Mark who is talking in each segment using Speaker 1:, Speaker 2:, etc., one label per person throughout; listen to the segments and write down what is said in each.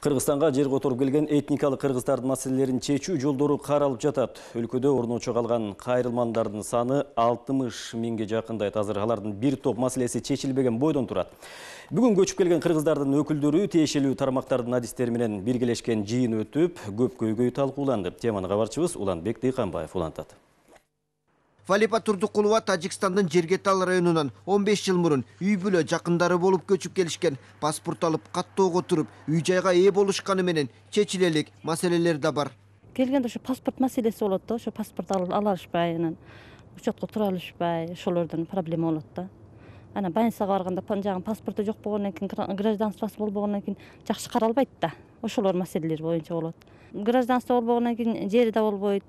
Speaker 1: Кыргызстанга жер которуп келген этникалык кыргыздардын маселелерин чечүү жолдору каралып жатат. Өлкөдө орночо калган кайрылмандардын саны 60 миңге жакындайт. Азыр алардын бир топ маселеси чечилбеген бойдон турат. Бүгүн көчүп келген кыргыздардын өкүлдөрү тиешелүү тармактардын адистери менен биргелешкен жыйын өтүп, көп көйгөй талкууланды. Теманы кабарчыбыз Уланбек Дыйканбаев улантат.
Speaker 2: Валипа Турдукулова Тажикстандын Жергетал районунан 15 жыл мурун үй бүлө жакындары болуп көчүп келишкен. Паспорт алып каттоого туруп, үй-жайга ээ болушканы менен чечиле элек маселелер да бар.
Speaker 3: Келгенде ошо паспорт маселеси болот да, ошо паспорт ала алышпай, анан учетко тура алышпай, ошолордун проблема болот да. Анан больницага барганда жагы паспорту жок болгондон кийин, гражданствосу болбогондон кийин жакшы каралбайт да. Ошолор маселелер боюнча болот. Гражданство болбогондон кийин жери да болбойт,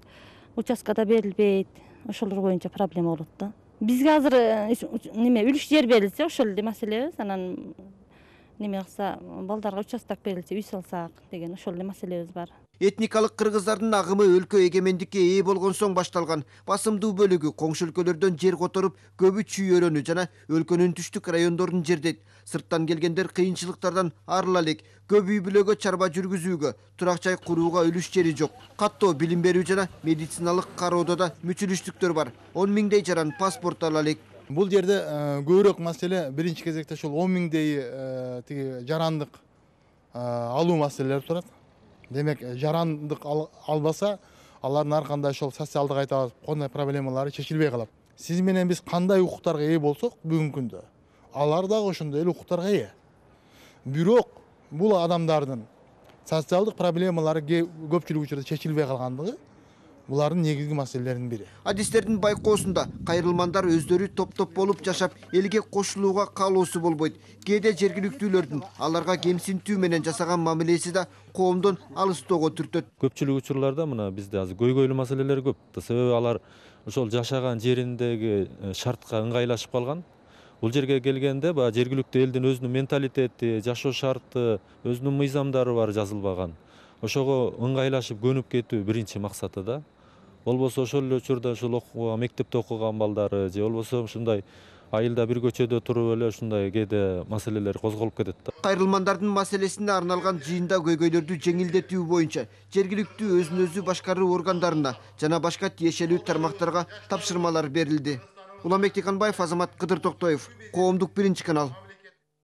Speaker 3: участка да берилбейт. Ошолор боюнча проблема болот да. Бизге азыр үлүш жер берилсе, ошол эле маселебиз. Анан кылса, балдарга участок берилсе, үй салсак деген ошол эле маселебиз бар.
Speaker 2: Этникалык кыргыздардын агымы өлкө эгемендикке ээ болгон соң башталган. Басымдуу бөлүгү коңшу өлкөлөрдөн жер которуп, көбү чүй-өрөнү жана өлкөнүн түштүк райондорун жердейт. Сырттан келгендер кыйынчылыктардан арыла элек. Көп үй бүлөгө чарба жүргүзүүгө, турак жай курууга үлүш жери жок. Каттоо билим берүү жана медициналык кароодо да мүчүлүштүктөр бар. 10 миңдей жаран паспорт ала элек.
Speaker 4: Бул жерде көбүрөөк маселе биринчи кезекте ошол 10 миңдей тиги жарандык алуу маселелери турат. Демек, жарандык албаса, алардын ар кандай ошол социалдык айтабыз, кандай проблемалары чечилбей калат. Сиз менен биз кандай укуктарга ээ болсок, бүгүнкү күндө алар дагы ошондой эле укуктарга ээ. Бирок бул адамдардын социалдык проблемалары көпчүлүк учурда чечилбей калгандыгы булардын негизги маселелеринин бири.
Speaker 2: Адистердин байкоосунда кайрылмандар өздөрү топ-топ болуп жашап, элге кошулууга каалоосу болбойт. Кээде жергиликтүүлөрдүн аларга кемсинтүү менен жасаган мамилеси да коомдон алыстоого түртөт.
Speaker 5: Көпчүлүк учурларда мына бизде азыр көйгөйлүү маселелер көп. Себеби алар ошол жашаган жериндеги шартка ыңгайлашып калган. Бул жерге келгенде баягы жергиликтүү элдин өзүнүн менталитети, жашоо шарты, өзүнүн мыйзамдары бар жазылбаган. Ошого ыңгайлашып көнүп кетүү биринчи максаты да. Болбосо ошол эле учурда ушул окууга, мектепте окуган балдары же болбосо ушундай айылда бир көчөдө туруп эле ушундай кээде маселелер козголуп кетет да.
Speaker 2: Кайрылмандардын маселесине арналган жыйында көйгөйлөрдү жеңилдетүү боюнча жергиликтүү өзүн өзү башкаруу органдарына жана башка тиешелүү тармактарга тапшырмалар берилди. Уланбек Дыйканбаев, Азамат Кыдыр Токтоев, Коомдук биринчи канал.